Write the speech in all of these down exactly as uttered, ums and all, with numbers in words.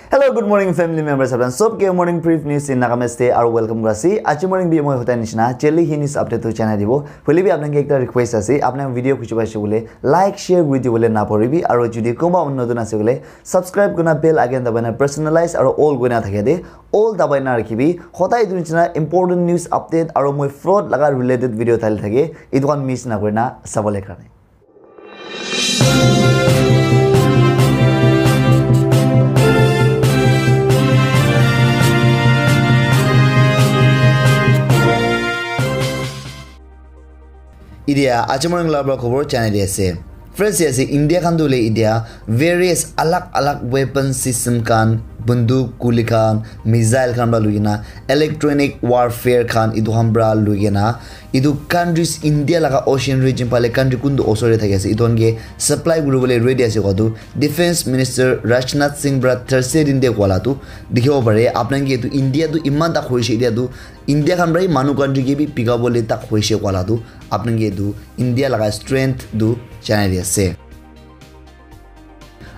Hello, good morning, family members. Apnan sob ke morning brief news in Nagamese te aru welcome kura ase. Aji morning bi moi hotai nishina jelly hi news update tu janai dibo. Hoile bi apnan ke ekta request ase, apnan video khuji paise bole like, share kuri dibole na poribi. Aru jodi kunba notun ase bole subscribe kurna bell icon dabai na personalize aru all kurna thake de all dabai na rakhibi. Hotai etu nishina important news update aru moi fraud laga related video thali thake, etu khan miss na kurina sabole karne. Idia aji morning la pra khobor janai di ase. First ase India khan tu le idia various alag alag weapon system khan, bunduk, guli khan, missile khan pra lui kena electronic warfare khan etu khan pra lui kena etu countries India laga ocean region phale country kuntu osor te thaki ase etu khan ke supply kuribole ready ase koa tu Defense Minister Rajnath Singh pra Thursday din te koa la tu dikhibo pare. Apnan ke etu India tu iman tak hoise etia tu India khan pra hi manu country ke bi bika bole tak hoise koa la tu apnan ke etu India laga strength tu janai di ase.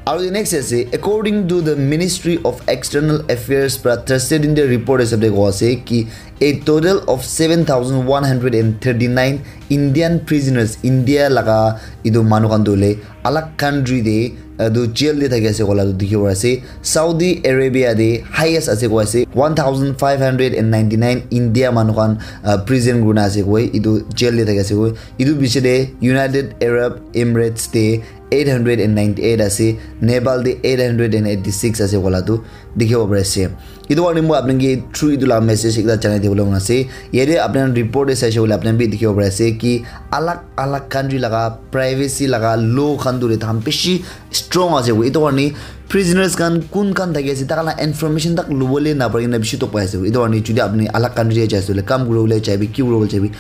Aru the next ase, according to the Ministry of External Affairs pra Thursday din te report hisab te koa ase ki a total of seven thousand one hundred and thirty-nine Indian prisoners, India laga etu manu khan tu le alag country te etu jail te thaki ase koa la tu dikhi pai ase. Saudi Arabia te highest ase koa ase one thousand five hundred and ninety-nine India manu khan uh, prison kurina ase koi etu jail te thaki ase koi. Etu piche te United Arab Emirates te eight hundred and ninety-eight ase, Nepal te eight hundred and eighty-six ase koa la tu dikhibo pari ase. Etu karne moi apni ke through etu laga message ekta janai dibole mon ase. Yate apni khan report te saishe koile apni khan bi dikhibo pari ase ki alag alag country laga privacy laga law khan tu le tahan bishi strong ase. Etu karne prisoners khan kun khan thaki ase, takhan laga information tak lobole na pari kena bishi tok pai ase. Etu karne jodi apni alag country te jai ase koile, kam kuribole jaibi, ki kuribole jaibi,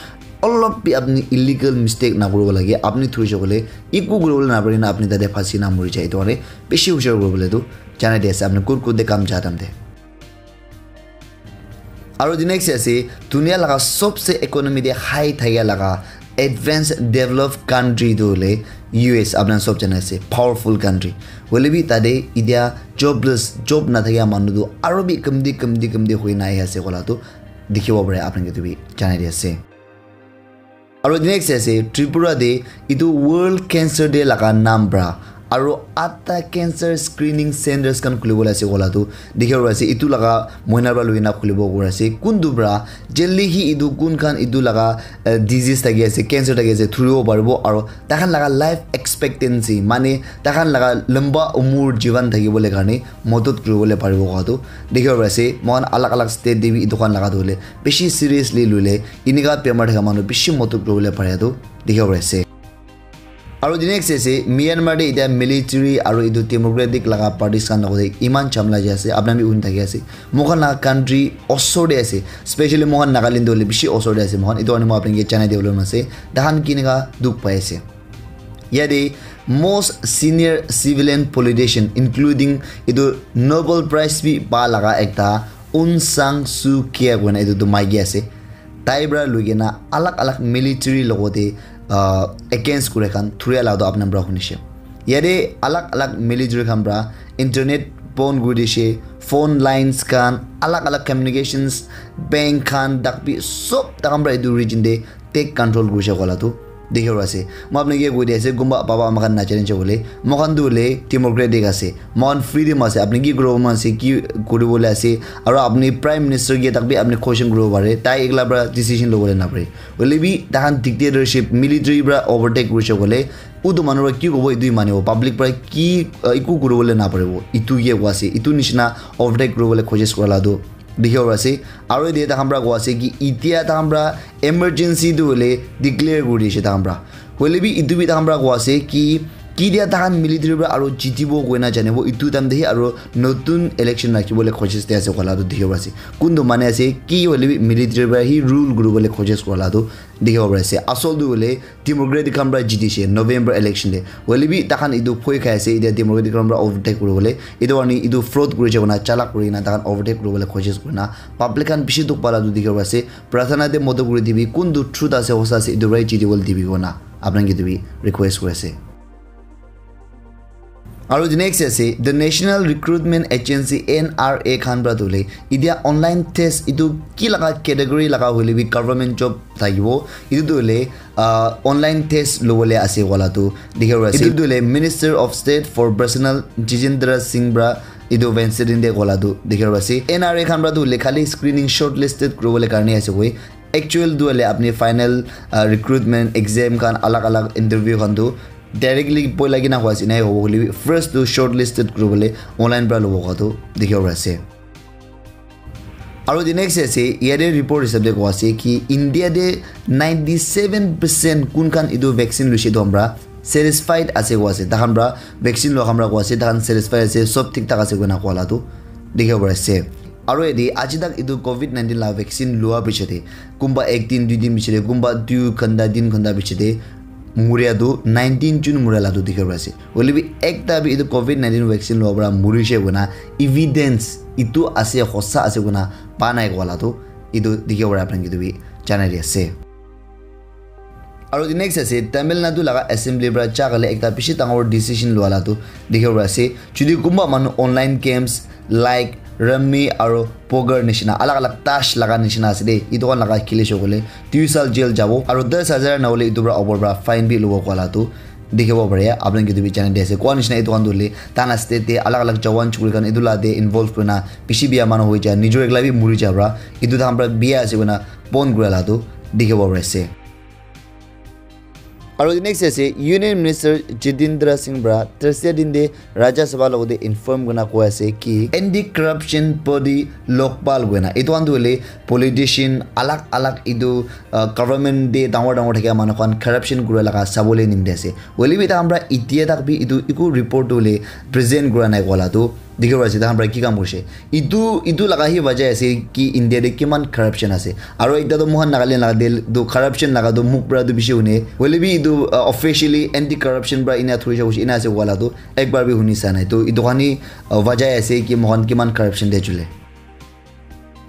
olop bi apni illegal mistake na kuribo lage. Apni thuri jakole eku kuribole na pari kena apni tate phasi na mori jai. Etu karne bishi hushar kuribole tu janai di ase apni kun kun te kam ja time te. Aru the next ase dunia laga sobse economy te high thaka laga advanced developed country tu hoile U S, apni khan sob jana ase, powerful country. Hoile bi tate itia jobless, job na thaka manu tu aru bi kamti kamti kamti hoi na ahi ase koa la tu dikhibo pare, apni khan ke tu bi janai di ase. Aru the next ase Tripura te etu World Cancer Day laga naam pra aru atta cancer screening centers khan khulibole ase koa la tu dikhibo pari ase. Etu laga mohina pra lui kena khulibo kuri ase. Kuntu pra jaldi hi etu kun khan etu laga uh, disease thaki ase, cancer thaki ase, thuribo paribo aru takhan laga life expectancy mane takhan laga lamba umur jivan thakibole karne modot kuribole paribo koa tu dikhibo pari ase. Moikhan alag alag state te bi etu khan laga tu hoile bishi seriously loile enika bemar thaka manu bishi modot kuribole pare tu dikhibo pari ase. Aru the next ase Myanmar te etia military aru etu democratic laga parties khan logote iman jhamla jai ase, apni khan bi huni thaki ase. Moikhan laga country osor te ase, specially moikhan Nagaland te hoile bishi osor te ase. Moikhan etu karne moi apni ke janai dibole mon ase takhan kinika dukh pai ase. Yate most senior civilian politician including etu Nobel Prize bi pa laga ekta Aung San Suu Kyi koina etu tu maiki ase. Tai pra lui kena alag alag military logote uh, against kure khan thuria la tu apni khan pra hunishe. Yate alag alag military khan pra internet bon kuri dishe, phone lines khan, alag alag communications, bank khan, dak bi sob takhan pra etu region te take control kurishe koa la tu dikhibo pari ase. Moi apni ke koi di ase, kunba baba ama khan najane je hoile, moikhan tu hoile democratic ase, moikhan freedom ase, apni ki kuribo mon ase, ki kuribole ase, aru apni prime minister ke tak bi apni question kuribo pare, tai ekla pra decision lobole na pare. Hoile bi takhan dictatorship, military pra overtake kurishe koile, utu manu pra ki kobo, etu hi manibo, public pra ki uh, eku kuribole na paribo, etu ke koa ase, etu nishina overtake kuribole koshish kura la tu dikhibo pari ase. Aru yate takhan pra koa ase ki itia takhan pra emergency tu hoile declare kuri dishe takhan pra. Hoile bi etu bi takhan pra koa ase ki kitia takhan military pra aru jitibo koina janibo, etu time te hi aru notun election rakhibole koshish te ase koa la tu dikhibo pari ase. Kuntu mani ase ki hoile bi military pra hi rule kuribole koshish kura la tu dikhibo pari ase. Asol tu hoile democratic khan pra jitishe November election te. Hoile bi takhan etu bhoi khai ase, etia democratic khan pra overtake kuribole. Etu karne etu fraud kurishe koina, chalak kuri kena takhan overtake kuribole koshish kurina public khan bishi dukh pa la tu dikhibo pari ase. Prathana te modot kuri dibi, kuntu truth ase, hosa ase, etu pra jitibole dibi koina apni khan ke tu bi request kuri ase. Aru the next ase, the National Recruitment Agency, N R A khan para tu hoile, itia online test itu ki laga category laga hoile bi government job thakibo, itu tu hoile, ah, online test lobole ase wala tu dikhi ase. Itu tu hoile Minister of State for Personnel Jitendra Singh para itu Wednesday din te kola tu dikhi ase. N R A khan para tu hoile khali screening shortlisted kuribole karne ase koi. Actual tu hoile apni final, ah, recruitment exam khan alag alag interview khan tu directly poi lagi na hoise nai hobo hoile bi first tu shortlisted kuribole online para lobo kowa tu dikhi ase. Aru the next ase, yate report hisab te kowa ase ki India te ninety-seven percent kun khan itu vaccine luise tu hamra satisfied ase kowa ase. Takhan para vaccine lo hamra kowa ase, takhan satisfied ase, sob thik thak ase koina kowa la tu dikhi ase. Aru yate aji tak itu covid nineteen la vaccine lua piche te, kumba ek din, dui din piche te, kumba dui ghanta, tin ghanta piche te, muria tu nineteen jun muria la tu dikhi ase. Hoile bi ekta bi itu covid nineteen vaccine lua para murise koina evidence itu ase, hosa ase koina pa nai kowa la tu itu dikhi ase, apni khan ke itu bi janai di ase. Aru the next ase, Tamil Nadu laga assembly para cha kale ekta bishi dangor decision lua la tu dikhi ase. Jodi kumba manu online games like rummy aru poker nishina, alag alag tash laga nishina ase de, itu khan laga khili shokole dui sal jail jabo, aru das hajar na hole itu para opor para fine bi lobo kowa la tu dikhibo pare. Apni khan ke itu bi janai di ase. Kowa nishina itu khan tu hoile, tana state te alag alag jawan chukri khan itu la te involve kurina bishi biya manu hoi ja, nijor ekla bi muri ja para, itu takhan para biya ase koina bon kura la tu dikhibo pare ase. Aru the next ase, Union Minister Jitendra Singh para Thursday din te Rajya Sabha logote inform kurina koi ase ki anti corruption body Lokpal koina, itu khan tu hoile politician alag alag itu, uh, government te dangor dangor thakia manu khan corruption kura laga sabole nimite ase. Hoile bi takhan para itia tak bi itu eku report tu hoile present kura nai kowa la tu dikhi ase. Takhan para ki kam kurise, itu, itu laga hi wajah ase ki India te kiman corruption ase. Aru ekta tu moikhan Nagaland laga te tu corruption laga tu mukh para tu bishi hune, hoile bi itu, uh, officially anti corruption para ina thuri ja kurise, ina ase kowa la tu ekbar bi huni sa nai. Tu itu khan hi, uh, wajah ase ki moikhan kiman corruption te chule.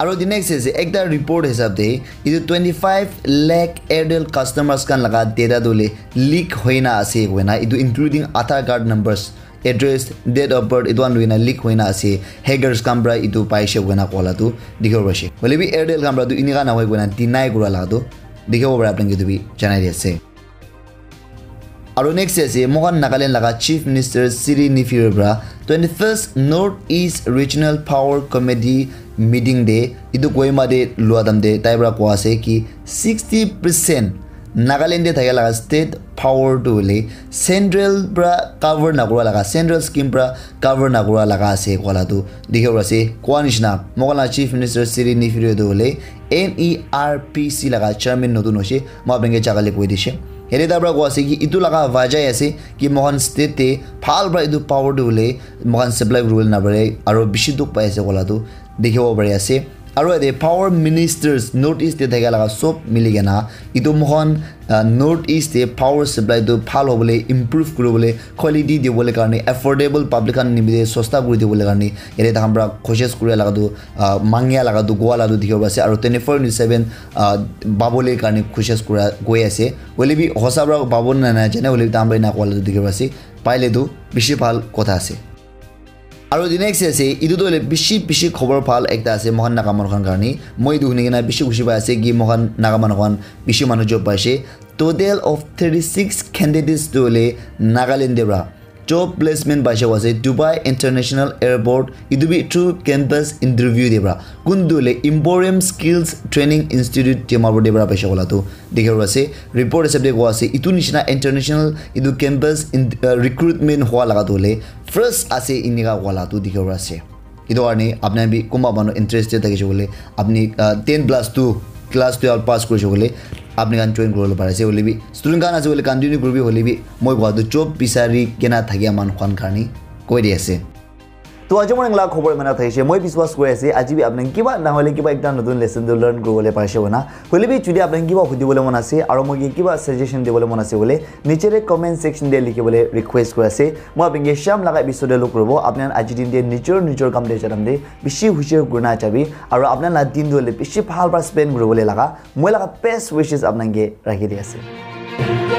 Aru the next ase, ekta report hisab te itu twenty-five lakh Airtel customers khan laga data tu hoile leak hoina ase koina, itu including Aadhaar card numbers, address, date of birth, itu khan loina leak hoina ase. Hackers khan para itu paise koina kowa la tu dikhibo paise. Hoile bi Airtel khan para tu inika na hoi koina deny kura la tu dikhibo pare, apni khan ke itu bi janai di ase. Aru next ase, moikhan Nagaland laga Chief Minister Siri Nifiro para twenty-first North East Regional Power Committee meeting te itu Kohima te lua time te tai para kowa ase ki sixty percent Nagaland te thakia laga state power tu hoile central para cover nakura laga, central scheme para cover nakura laga ase kowa la tu dikhibo ase. Kowa nishina, moikhan la Chief Minister Siri Nifiro tu hoile N E R P C laga chairman notun hoise, moi apni khan ke jaka le koi dise. Yate tai para kowa ase ki itu laga wajah ase ki moikhan state te bhal para itu power tu hoile moikhan supply kuribole napare, aru bishi dukh pai ase kowa la tu dikhibo pari ase. Aru yate power ministers North East te thakia laga sob mili kena itu moikhan, ah, North East te power supply tu bhal hobole, improve kuribole, quality dibole karne, affordable public khan nimite sosta kuri dibole karne yate takhan para koshish kura laga tu, ah, mangia laga tu, kowa laga tu dikhibo ase. Aru twenty-four into seven, ah, pabole karne koshish kura koi ase. Hoile bi hosa para pabo na najane, hoile bi takhan para ena kowa laga tu dikhibo ase. Paile tu bishi bhal kotha ase. Aru the next ase, itu tu hoile bishi, bishi khobor bhal ekta ase moikhan Naga manu khan karne. Moi itu huni kena bishi khushi pai ase ki moikhan Naga manu khan bishi manu job paise. Total of thirty-six candidates tu hoile Nagaland te para job placement paise kowa ase Dubai International Airport, itu bi through campus interview te para. Kun tu hoile Emporium Skills Training Institute Dimapur te para paise kowa laga tu dikhibo ase. Report hisab te kowa ase itu nishina international itu campus in, uh, recruitment howa laga tu hoile first ase inika kowa laga tu dikhibo ase. Itu karne apni khan bi kunba manu interested thakise koile, apni, uh, ten plus two, class twelve pass kurise koile, apni khan join kuribole pari ase. Hoile bi student khan ase koile continue kuribi, hoile bi moi kowa tu job bisari kena thakia manu khan karne koi di ase. To aji morning la khobor iman thakise, moi biswas kuri ase aji bi apni khan kiba nahole kiba ekta notun lesson tu learn kuribole parise koina. Hoile bi jodi apni khan kiba hudibole mon ase aru moi ke kiba suggestion dibole mon ase koile niche te comment section te likhibole request kuri ase. Moi apni ke sham laga episode te log kuribo. Apni khan aji din te nijor nijor kam te ja time te bishi hushar kurina jabi aru apni khan la din tu hoile bishi bhal para spend kuribole laga moi laga best wishes apni khan ke rakhi di ase.